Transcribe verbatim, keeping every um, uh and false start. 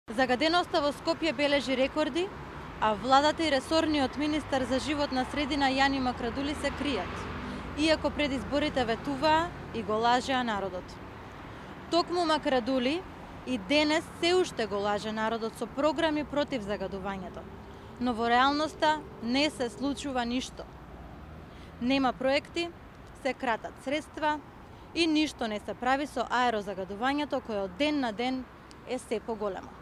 Загаденоста во Скопје бележи рекорди, а владата и ресорниот министар за животна средина Јани Макрадули се кријат, иако пред изборите ветуваа и го лажеа народот. Токму Макрадули и денес се уште го лаже народот со програми против загадувањето, но во реалноста не се случува ништо. Нема проекти, се кратат средства и ништо не се прави со аерозагадувањето кое од ден на ден е се поголемо.